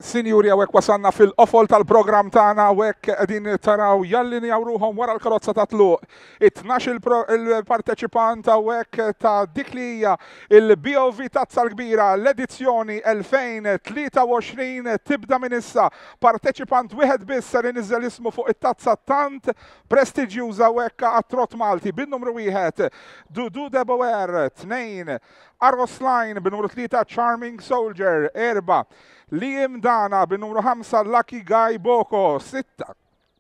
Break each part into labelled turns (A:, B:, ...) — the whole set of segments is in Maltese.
A: Sinjuri hawnhekk wasalna fil-qofol tal-programm tagħna hawnhekk qegħdin taraw jallinjaw ruħhom wara l-karozza ta' tluq. It-tnax il-parteċipant hawnhekk ta' dik li hija il-BOV Tazza l-Kbira l-edizzjoni 2023 tibda minn issa. Parteċipant wieħed biss ser iniżżel ismu fuq it-tazza tant prestiġjuża hawnhekk għat-trott Malti bin-numru wieħed Dudu Deboer, tnejn Argos Line bin-numru 3 Charming Soldier, 4 Liam Dana bin-numru 5 Lucky Guy Boko, 6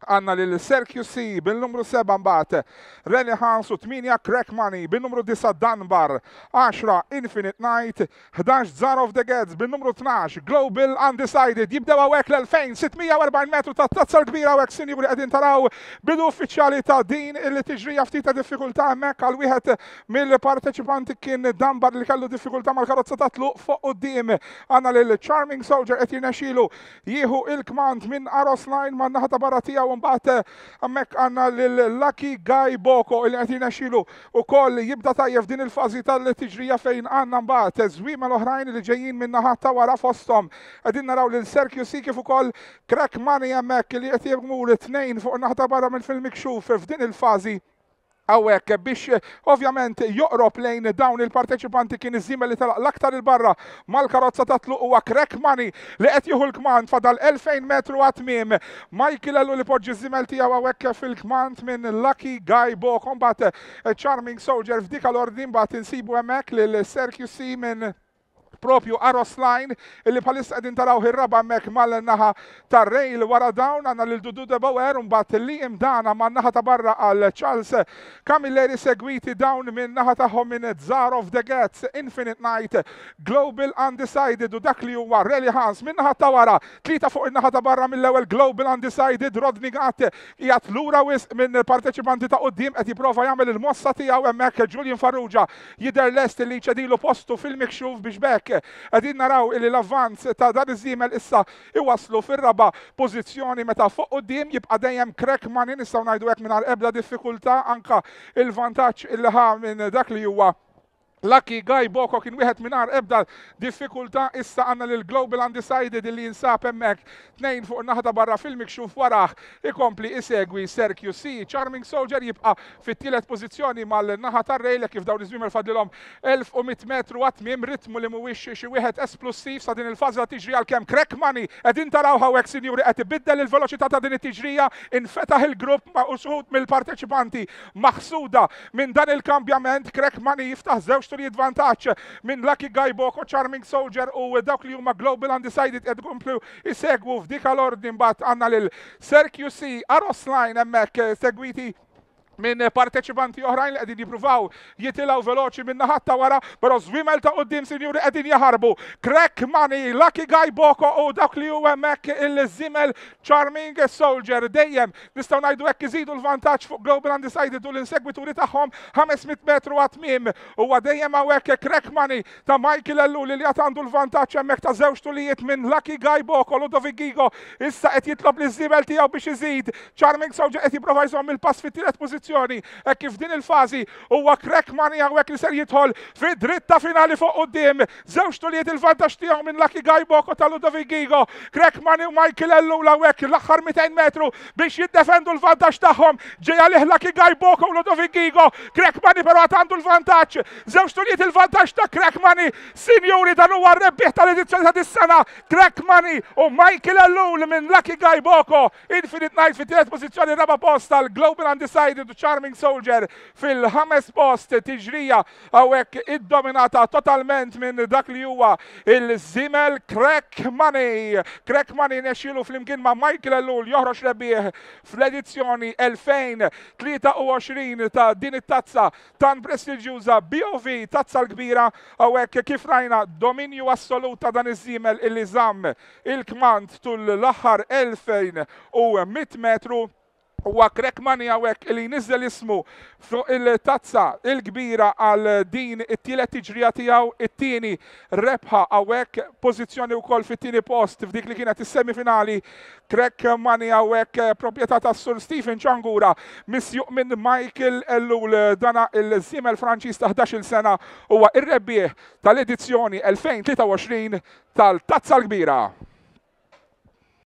A: għanna lil Sergio C bil-numru 7 mbagħad Rally Hans u 8 Crack Money bin-numru 9 Dunbar, 10 Infinite Night, 11 Zar of the Gets bin-numru 12 Global Undecided. Jibdew hawnhekk l-2640 metru ta' tazza l-kbira hawnhekk sinjuri qegħdin taraw bidu uffiċjali ta' din il-tiġrija ftit ta' diffikultà hemmhekk għal wieħed Mill-parteċipanti kien Dunbar li kellu diffikultà mal-karozza ta' tluq fuq quddiem. Għandna lil Charming Soldier qed jirnexxielu jieħu il-kmand minn Aros Line man naħa ta' barra tiegħu mbagħad hemmhekk għandna lil Lucky Guy Boko li qed jirnexxielu wkoll jibda tajjeb din il-fażi tal-tiġrija fejn għandna mbagħad żwiemel oħrajn li ġejjin minn naħa ta' wara fosthom. Qegħdin naraw lil Sergio C kif ukoll Crack Money hemmhekk li qed jmur tnejn fuq naħa ta' barra mill-fil-mikxuf f'din il-fażi hawnhekk biex ovvjament joqrob lejn dawn il-parteċipanti kien iż-żiemel li telaq l-aktar il-barra mal-karozza ta' tluq huwa Crack Money li qed jieħu l-kmand fadal 2000 metru għat-tmiem. Michael Ellul li poġġi ż-żiemel tiegħu hawnhekk fil-kmand minn Lucky Guy Boko mbagħad Charming Soldier f'dik l-ordni mbagħad insibu hemmhekk lil Sir QC minn propju Aros Line illi bħalissa qegħdin taraw ir-raba' hemmhekk mal-naħa tar-rail wara dawn għandna lil Dudu de Boer u mbagħad Liam Dana man-naħa ta' barra għal Charles Camilleri segwiti dawn minn naħa tagħhom minn Tsar of the Gats, Infinite Night, Global Undecided u dak li huwa Rally Hans minn naħa ta' wara, tlieta fuq in-naħa ta' barra mill-ewwel Global Undecided, Rodney Gatt qiegħed lura wisq minn parteċipanti ta' quddiem qed jipprova jagħmel il-mossa tiegħu hemmhekk Julian Farrugia jidher lest li jċedilu postu fil-mikxuf biex b'hekk qegħdin naraw illi l-avvanz ta' dan iż-żiemel issa iwasslu fir-raba' pożizzjoni meta fuq quddiem jibqa' dejjem Crack Money nistgħu ngħidu hekk mingħajr ebda diffikultà anke il-vantaġġ illi ħa minn dak li huwa Lucky Guy Boko kien wieħed mingħajr ebda diffikultà issa għandna lil Global Undecided illi jinsab hemmhekk tnejn fuq in-naħa ta' barra fil-mikxuf warah ikompli isegwi Sir QC. Charming Soldier jibqa' fit-tielet pożizzjoni mal-naħa tar-rail hekk kif dawn iż-żwiemel fadlilhom 1100 metru għat-tmiem, ritmu li mhuwiex xi wieħed esplussiv sa din il-fażi ta' tiġrija għalkemm Crack Money qegħdin taraw hawnhekk sinjuri qed ibiddel il-veloċità ta' din it-tiġrija, infetaħ il-grupp ma' uxud mill-parteċipanti maħsuda minn dan il-kambjament, Crack Money jiftaħ żewġ turijiet vantaġġ minn Lucky Guy Boko, Charming Soldier u dawk li huma Global Undecided qed ikomplu jsegwu f'dik l-ordni mbagħad għandna lil Sir QC Aros Line hemmhekk segwiti minn parteċipanti oħrajn li qegħdin jippruvaw jitilgħu veloċi minn naħat ta' wara, però żwiemel ta' quddiem sinjuri qegħdin jaħarbu. Crack Money, Lucky Guy Boko u dak li hu hemmhekk il-żiemel Charming Soldier dejjem nistgħu ngħidu hekk iżidu l-vantaġġ fuq Global Undecided u l-insegwituri tagħhom 500 metru għat-tmiem. Huwa dejjem hawnhekk Crack Money ta' Michael Ellul li għad għandu l-vantaġġ hemmhekk ta' żewġ tulijiet minn Lucky Guy Boko. Ludovic Gigo issa qed jitlob liż-żiemel tiegħu biex iżid. Charming Soldier qed jipprova jżomm il-pass fit-tielet pożizzjoni hekk kif f'din il-fażi huwa Crack Money hawnhekk li ser jidħol fid-dritta finali fuq quddiem. Żewġ tulijiet il-vantaġġ tiegħu minn Lucky Guy Boko ta' Ludovic Gigo. Crack Money u Michael Ellul hawnhekk l-aħħar 200 metru biex jiddefendu l-vantaġġ tagħhom. Ġej għalih Lucky Guy Boko u Ludovic Gigo. Crack Money però għad għandu l-vantaġġ. Żewġ tulijiet il-vantaġġ ta' Crack Money. Sinjuri dan huwa r-rebbieħ tal-edizzjoni ta' dis-sena. Crack Money u Michael Ellul minn Lucky Guy Boko. Infinite Night fit-tielet pożizzjoni raba' post għal Global Undecided u Charming Soldier fil-ħames post tiġrija hawnhekk iddominata totalment minn dak li huwa il-żiemel Crack Money. Crack Money nexxielu flimkien ma' Michael Ellul joħroġ rebbieħ fl-edizzjoni 2023 ta' din it-tazza tant prestiġjuża BOV Tazza l-Kbira hawnhekk kif rajna dominju assolut ta' dan iż-żiemel illi żamm il-kmand tul l-aħħar 2100 metru. Huwa Crack Money hawnhekk li jniżżel ismu fuq il-tazza l-kbira għal din it-tielet tiġrija tiegħu, it-tieni rebħa hawnhekk, pożizzjoni wkoll fit-tieni post f'dik li kienet is-semifinali. Crack Money hawnhekk proprjetà tas-Sur Stephen Ciangura, misjuq minn Michael Ellul. Dana il-żiemel Franċiż ta' 11-il sena huwa r-rebbieħ tal-edizzjoni 2023 tal-Tazza l-Kbira.